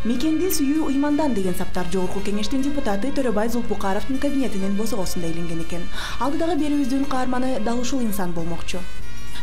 Мекенди сүйүү ыймандан деген саптар Жогорку Кеңештин депутаты Төрөбай Зулпукаровдун кабинетинин босогосунда илинген экен. Алдыдагы берүүбүздүн каарманы дал ушул инсан болмокчу.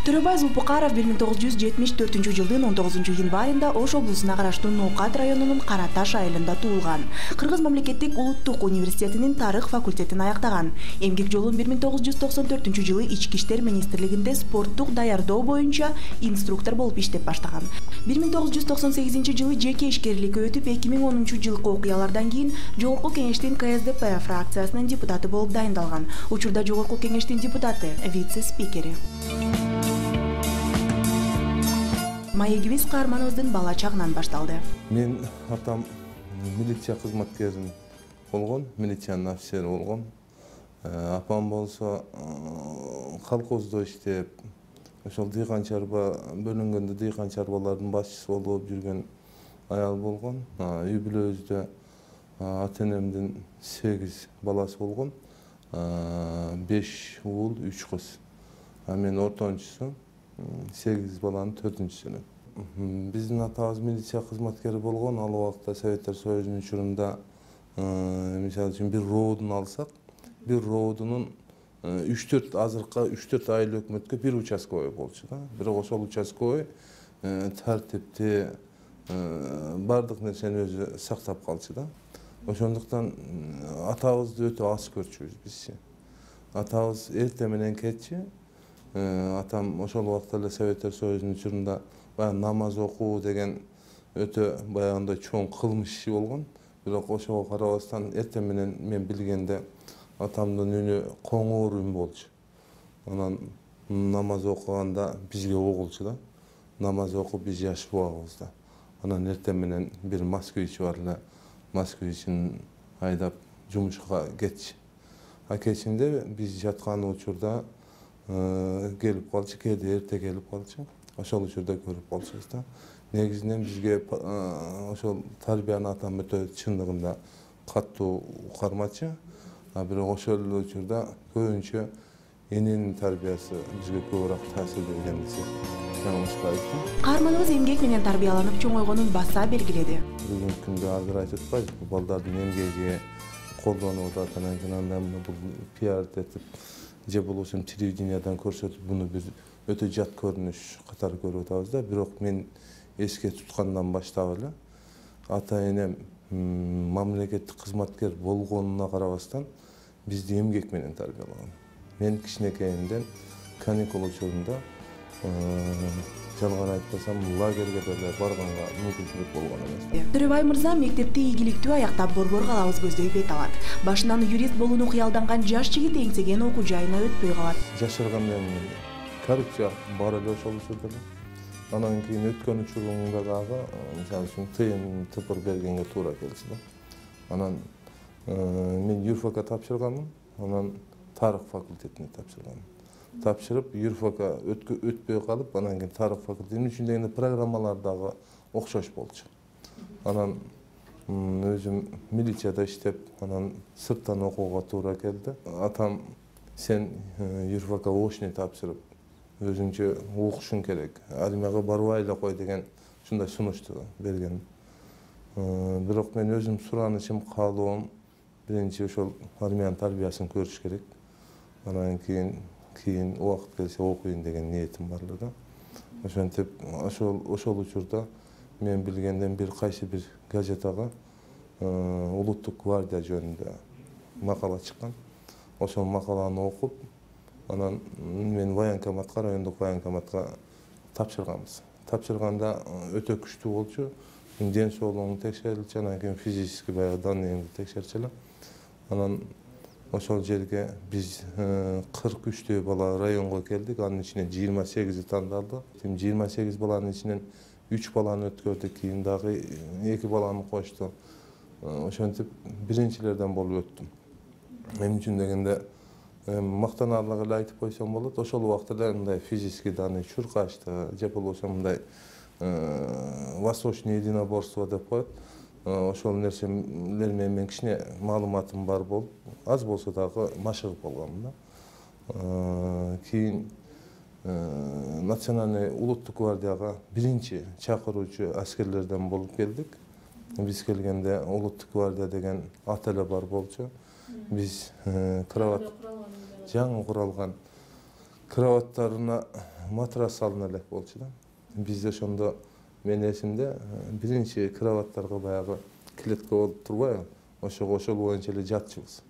Төрөбай Зулпукаров 1974-жылдын 19 январында Ош облусуна караштуу Ноокат районунун Караташ айылында туулган. Кыргыз мамлекеттик улуттук университетинин тарых факультетин аяктаган. Эмгек жолун 1994-жылы Ички иштер министрлигинде спорттук даярдоо боюнча инструктор болуп иштеп баштаган. 1998-жылы жеке ишкерликке өтүп, 2010-жылкы окуялардан кийин Жогорку Кеңештин КСДП фракциясынын депутаты болуп дайындалган. Учурда Жогорку Кеңештин депутаты, вице-спикери. Маегибиз каарманыбыздын бала чагынан башталды. Мен атам милиция кызматкери болгон, милициянын офицери болгон. Апам болсо колхоздо иштеп, ошол дыйкан чарба бөлүнгөндө дыйкан чарбалардын башчысы болуп жүргөн аял болгон. Үй бүлөбүздө ата-энемдин 8 баласы болгон. 5 уул, 3 кыз. Мен ортончусу. 8 баланын 4-сүнүн. Биздин атабыз милиция кызматкери болгон. Ал убакта Советтер Союзунун учурунда, мисалы үчүн бир роодун алсак, бир роодунун 3-4 азыркы 3-4 айыл өкмөткө бир участковый болчу да. Бирок ошол участковый тартипти, бардык нерсени өзү сактап калчу да. Ошондуктан атабызды өтө аз көрчүбүз биз. Атабыз эрте менен кетчү. Атам ошол убакта эле Советтер Союзунун учурунда намаз окуу деген өтө баягындай чоң кылмыш иши болгон. Бирок ошого карабастан эрте менен мен билгенде атамдын үнү коңур үн болчу. Анан намаз окуганда бизге угулчу да. Намаз окуп биз жашып убагыбызда. Анан эрте менен бир москвич бар эле, москвичин айдап жумушка кетчү. Кечинде биз жаткан учурда келип калчу, кээде эрте келип калчу. Ошол учурда көрүп калчубуз да. Негизинен бизге ошол тарбияны атам өтө чындыгында катуу кармачу. Бирок ошол эле учурда көбүнчө эненин тарбиясы бизге көбүрөөк таасир берген десек жаңылышпайбыз. Каарманыбыз эмгек менен тарбияланып чоңойгонун баса белгиледи. Бүгүнкү күндө азыр айтып атпайбызбы, балдардын эмгеги колдонуп атат, анан кийин андан пиар этип, же болбосо телевидениядан көрсөтүп, буну биз өтө жат көрүнүш катары көрүп атабыз да. Бирок мен эске туткандан баштап эле ата-энем мамлекеттик кызматкер болгонуна карабастан бизди эмгек менен тарбиялаган. Мен кичинекейимден каникул учурунда жалган айтпасам лагерге деле барганга мүмкүнчүлүк болгон эмес. Төрөбай мырза мектепти ийгиликтүү аяктап борбор калабыз көздөй бет алат. Башынан юрист болууну кыялданган жаш жигит эңсеген окуу жайына өтпөй калат. Жашырган менен коррупция бар эле ошол учурда эле. Анан кийин өткөн учурумда дагы, мисалы үчүн тыйын тыпыр бергенге туура келчү да. Анан мен юрфакка тапшырганмын, анан тарых факультетине тапшырганмын. Тапшырып, юрфакка өтпөй калып, анан кийин тарых факультетинин үчүндөгү программалар дагы окшош болчу. Анан өзүм милицияда иштеп, анан сырттан окууга туура келди. Атам сен юрфакка очный тапшырып, өзүңчө окушуң керек, армияга барбай эле кой деген ушундай сунушту берген. Бирок мен өзүм суранычым, каалоом биринчи ошол армиянын тарбиясын көрүш керек. Анан кийин убакыт келсе окуйн деген ниетим бар эле да. Ошентип ошол учурда мен билгенден бир кайсы бир газетага улуттук гвардия жөнүндө макала чыккан. Ошол макаланы окуп, анан мен военкоматка, райондук военкоматка тапшырганбыз. Тапшырганда өтө күчтүү болчу. Ден соолугуң текшерилчү, анан кийин физический баягы данныйыңды текшерчү эле. Анан ошол жерге биз 43 бала районго келдик. Анын ичинен 28 тандалды. 28 баланын ичинен 3 баланы өткөрдүк, кийин дагы 2 баланы кошту. Ошентип биринчилерден болуп өттүм. Мен үчүн дегенде мактанаарлык эле айтып койсом болот. Ошол убакта эле мындай физический данный чуркашты, же болбосо мындай восточный единоборство деп коет. Ошол нерселер менен кичине маалыматым бар болуп, аз болсо дагы машыгып алганмын да. Кийин национальный улуттук гвардияга биринчи чакыруучу аскерлерден болуп келдик. Биз келгенде улуттук гвардия деген ат эле бар болчу. Биз кровать жаңы куралган кроваттарына матрас салына элек болчу да. Бизде ошондо менин эсимде биринчи кроваттарга баягы клетка болуп турбайбы? Ошол боюнча эле жатчубуз.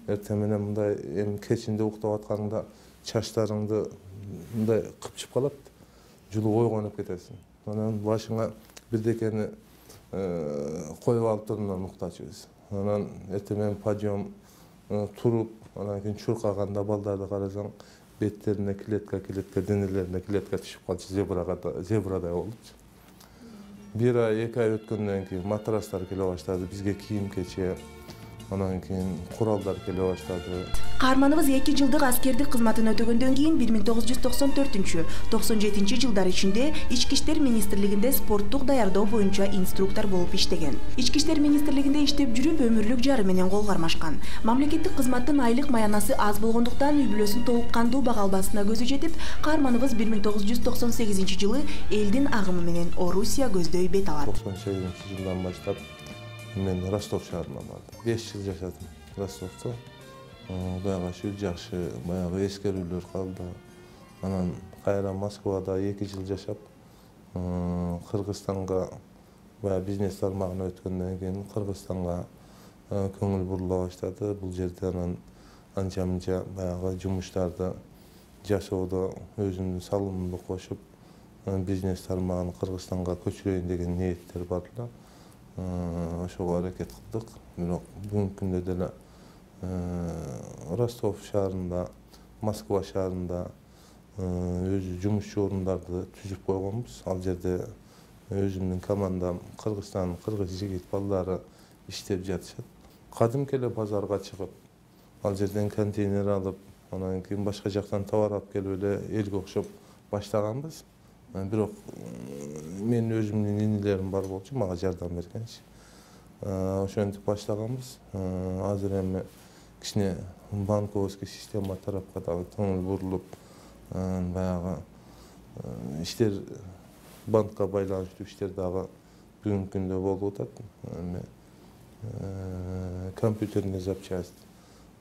Эртең менен мындай эми кечинде уктап атканыңда чачтарыңды мындай кыпчып калат, жулуп ойгонуп кетесиң. Анан башыңа бирдекени коюп алып турумдан уктачубуз. Анан эртең менен подъем туруп, анан кийин чуркаганда балдарды карасаң, беттерине клетка, денелерине клетка түшүп калчу, зебрадай болчу. Бир ай, 2 ай өткөндөн кийин матрастар келе баштады, бизге кийим-кече, анан кийин куралдар келе баштады. Каарманыбыз 2 жылдык аскердик кызматын өтөгөндөн кийин 1994-97 жылдар ичинде Ички иштер министрлигинде спорттук даярдоо боюнча инструктор болуп иштеген. Ички иштер министрлигинде иштеп жүрүп өмүрлүк жары менен кол кармашкан. Мамлекеттик кызматтын айлык маянасы аз болгондуктан үй бүлөсүн толук кандуу бага албасына көзү жетип, каарманыбыз 1998 жылы элдин агымы менен Орусия көздөй бет алат. 98 жылдан баштап мен Ростов шаарына бардым. 5 жыл жашадым Ростовто. Кудайга шүгүр жакшы баягы эскерүүлөр калды. Анан кайра Москвада 2 жыл жашап, Кыргызстанга баягы бизнес тармагына өткөндөн кийин Кыргызстанга көңүл бурула баштады. Бул жерде анан анча-мынча баягы жумуштарды жасоодо өзүмдүн салымымды кошуп, бизнес тармагын Кыргызстанга көчүрөйүн деген ниеттер бар эле. Ошого аракет кылдык. Бирок бүгүнкү күндө деле Ростов шаарында, Москва шаарында өзү жумушчу орундарды түзүп койгонбуз. Ал жерде өзүмдүн командам Кыргызстан, кыргыз жигит балдары иштеп жатышат. Кадимки эле базарга чыгып, ал жерден контейнер алып, анан кийин башка жактан товар алып келип эле элге окшоп баштаганбыз. Бирок менин өзүмдүн инилерим бар болчу, мага жардам бергенчи. Ошентип баштаганбыз. Азыр эми кичине банковский система тарапка дагы көңүл бурулуп, баягы иштер, банкка байланыштуу иштер дагы бүгүнкү күндө болуп атат. Эми компьютерный запчасть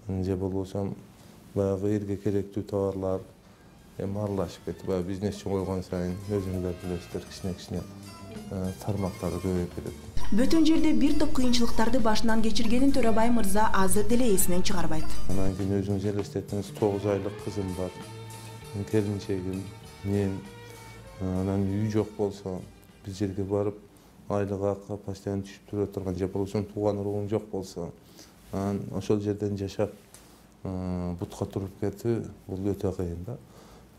же болбосо баягы элге керектүү товарлар эми аралашып кетти. Баягы бизнес чоңойгон сайын өзүңүздөр билесиздер, кичине тармактары көбөйүп кетет. Бөтөн жерде бир топ кыйынчылыктарды башынан кечиргенин Төрөбай мырза азыр деле эсинен чыгарбайт. Анан кийин өзүңүз элестетиңиз, 9 айлык кызым бар, келинчегим, мен. Анан үй жок болсо, бир жерге барып, айлык акы постоянно түшүп тура турган, же болбосо тууган уругуң жок болсо, анан ошол жерден жашап, бутка туруп кетүү бул өтө кыйын да.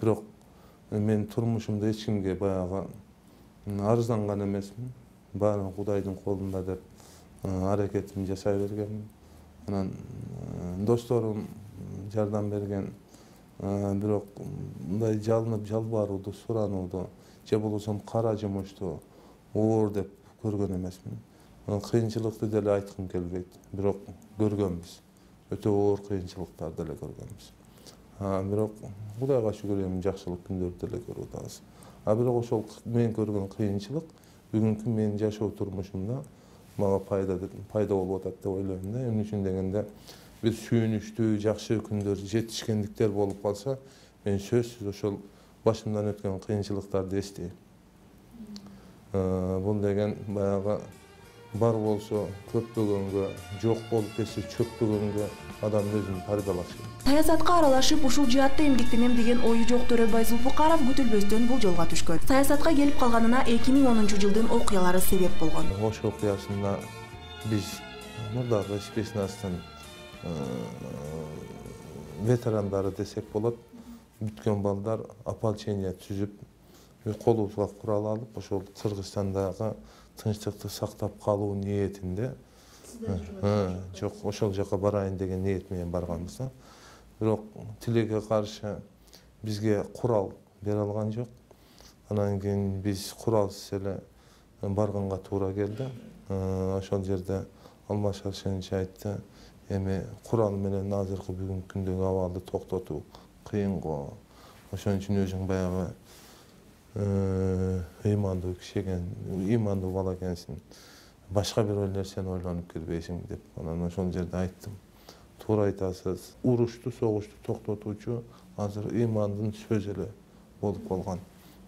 Бирок мен турмушумда эч кимге баягы арызданган эмесмин. Баары Кудайдын колунда деп аракетимди жасай бергенмин. Анан досторум жардам берген. Бирок мындай жалынып жалбарууду, суранууду, же болбосо кара жумушту оор деп көргөн эмесмин. Кыйынчылыкты деле айткым келбейт. Бирок көргөнбүз. Өтө оор кыйынчылыктарды деле көргөнбүз. Бирок Кудайга шүгүр эми жакшылык күндөрдү деле көрүп атабыз. Бирок ошол мен көргөн кыйынчылык бүгүнкү менин жашоо турмушумда мага пайда болуп атат деп ойлойм да. Эмне үчүн дегенде, бир сүйүнүчтүү, жакшы күндөр, жетишкендиктер болуп калса, мен сөзсүз ошол башымдан өткөн кыйынчылыктарды эстейм. Бул деген баягы бар болсо көппөгөнгө, жок болуп кетсе чөкпөгөнгө адам өзүн тарбиялашы. Саясатка аралашып, ушул жаатта эмгектенем деген ою жок Төрөбай Зулпукаров күтүлбөстөн бул жолго түшкөн. Саясатка келип калганына 2010 жылдын окуялары себеп болгон. Ош окуясында биз мурдагы спецнастын ветерандары десек болот, бүткөн балдар ополчение түзүп, колубузга курал алып, ошол Кыргызстандагы тынчтыкты сактап калуу ниетинде, жок, ошол жака барайын деген ниет менен барганбыз да. Бирок тилекке каршы бизге курал бере алган жок. Анан кийин биз куралсыз эле барганга туура келди. Ошол жерде Алмаз Шаршенович айтты, эми курал менен азыркы бүгүнкү күндөгү абалды токтотуу кыйын го. Ошон үчүн өзүң баягы ыймандуу киши экен, ыймандуу бала экенсиң. башка бирөө нерсени ойлонуп келбейсиңби деп. Анан ошол жерде айттым. Туура айтасыз. Урушту, согушту токтотуучу азыр имандын сөзү эле болуп калган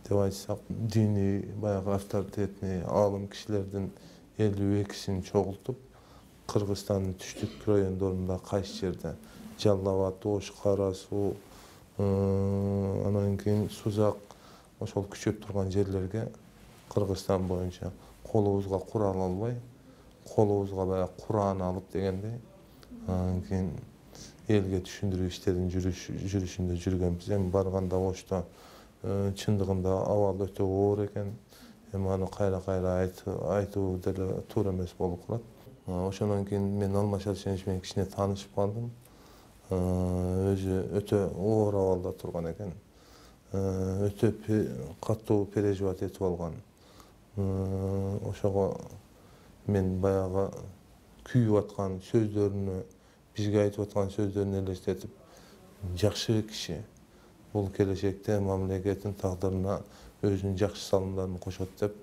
деп айтсак, диний баягы авторитетный аалым кишилердин 52-син чогултуп, Кыргызстандын түштүк райондорунда кайсы жерде Жалал Абад, Ош, Кара Суу, анан кийин Сузак ошол күчөп турган жерлерге Кыргызстан боюнча колубузга курал албай, колубузга баягы Куран алып дегендей, анан кийин элге түшүндүрүү иштерин жүрүшүндө жүргөнбүз. Эми барганда Ошто чындыгында абал өтө оор экен. Эми аны кайра айтуу деле туура эмес болуп калат. Ошондон кийин мен Алмаз Алишерович менен кичине таанышып калдым. Өзү өтө оор абалда турган экен. Өтө катуу переживать этип алган. Ошого мен баягы күйүп аткан сөздөрүнө, бизге айтып аткан сөздөрүн элестетип, жакшы киши бул келечекте мамлекеттин тагдырына өзүнүн жакшы салымдарын кошот деп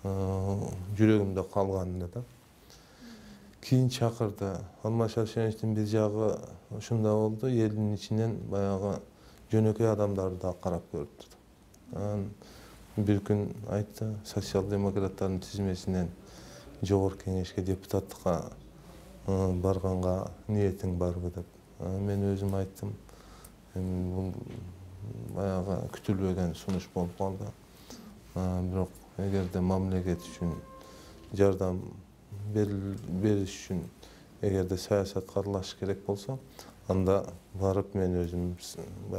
жүрөгүмдө калган эле да. Кийин чакырды. Алмаз Алишеровичтин бир жагы ушундай болду, элдин ичинен баягы жөнөкөй адамдарды да карап көрүп турду. Анан бир күн айтты, социал-демократтардын тизмесинен жогорку кеңешке депутаттыкка барганга ниетиң барбы деп. Мен өзүм айттым. Бул баягы күтүлбөгөн сунуш болуп калды. Бирок эгерде мамлекет үчүн жардам бериш үчүн эгерде саясатка аралашыш керек болсо, анда барып мен өзүм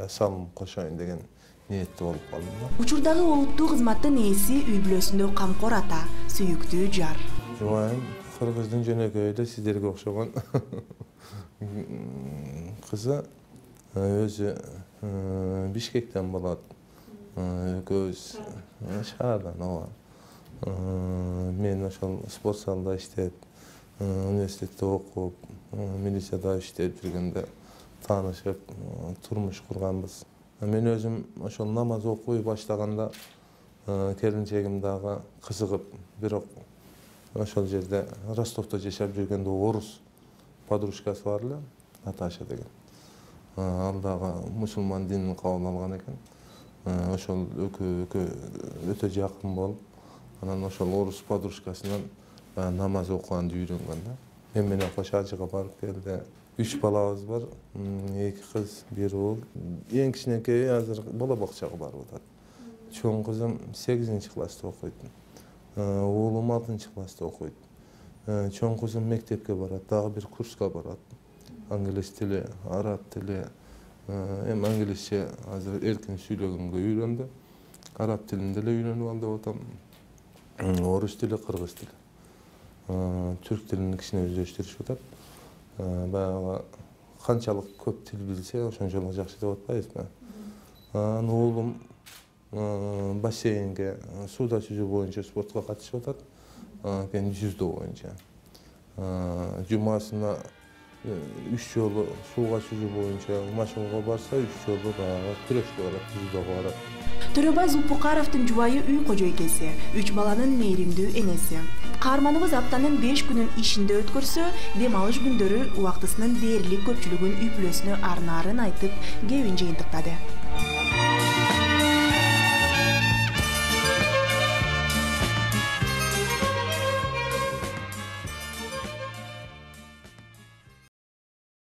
салым кошоюн деген ниетте болуп калдым. Учурдагы олуттуу кызматтын ээси үй бүлөсүндө камкор ата, сүйүктүү жар. Жубайым Кыргыздын жөнөкөй эле сиздерге окшогон кызы өзү Бишкектен болот. Экөөбүз шаардан ооба. Мен ошол спорт залда иштеп, университетте окуп, милицияда иштеп жүргөндө таанышып, турмуш курганбыз. Мен өзүм ошол намаз окуй баштаганда келинчегим дагы кызыгып, бирок ошол жерде Ростовдо жашап жүргөндө орус подружкасы бар эле, Наташа деген. Ал дагы мусулман динин кабыл алган экен. Ошол өтө жакын болуп, анан ошол орус подружкасынан намаз окуганды үйрөнгөн да. Мен менен кош ажыга барып келди. 3 балабыз бар, 2 кыз, 1 уул. Эң кичинекейи азыр бала бакчага барып атат. Чоң кызым 8-класста окуйт. Уулум 6-класста окуйт. Чоң кызым мектепке барат, дагы бир курска барат. Англис тили, араб тили. Эми англисче азыр эркин сүйлөгөнгө үйрөндү. Араб тилин деле үйрөнүп ал деп атам. Орус тили, кыргыз тили. Түрк тилин кичине өздөштүрүшүп атат. Баягы канчалык көп тил билсе, ошончолук жакшы деп атпайбызбы? Уулум бассейнге, сууда жүзүү боюнча спортко катышып атат. Кийин жүздө боюнча. Жумасына 3 жолу сууга жүзүү боюнча машыгууга барса, 3 жолу баягы күрөшкө барат, жүзүүгө барат. Төрөбай Зулпукаровдун жубайы үй кожойкеси, 3 баланын мээримдүү энеси. Каарманыбыз аптанын 5 күнүн ишинде өткөрсө, дем алыш күндөрү убактысынын дээрлик көпчүлүгүн үй бүлөсүнө арнаарын айтып, кебин жыйынтыктады.